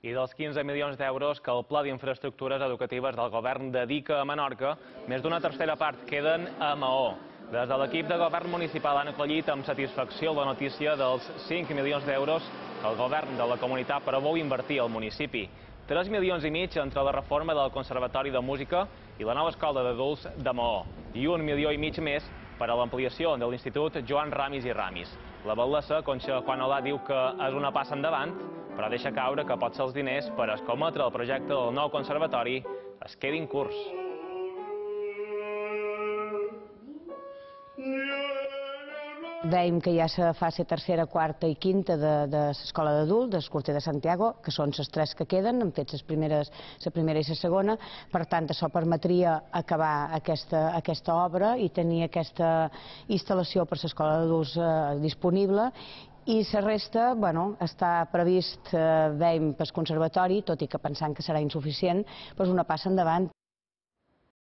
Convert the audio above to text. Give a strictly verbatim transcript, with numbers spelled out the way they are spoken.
i dels quinze milions d'euros que el Pla d'Infraestructures Educatives del Govern dedica a Menorca, més d'una tercera part queden a Maó. Des de l'equip de govern municipal han acollit amb satisfacció la notícia dels cinc milions d'euros que el govern de la comunitat preveu invertir al municipi. tres milions i mig entre la reforma del Conservatori de Música i la nova escola d'adults de Maó, i un milió i mig més per a l'ampliació de l'Institut Joan Ramis i Ramis. La batllessa, Conxa Juan Olà, diu que és una passa endavant, però deixa caure que potser els diners per escometre el projecte del nou conservatori es quedin curts. Veiem que ja se fa la tercera, quarta i quinta de, de l'escola d'adult, d'Escorter de Santiago, que són les tres que queden, han fet les primeres, la primera i la segona. Per tant, això permetria acabar aquesta, aquesta obra i tenir aquesta instal·lació per l'escola d'adults eh, disponible. I la resta, bueno, està previst, eh, veiem, pel conservatori, tot i que pensant que serà insuficient, doncs una passa endavant.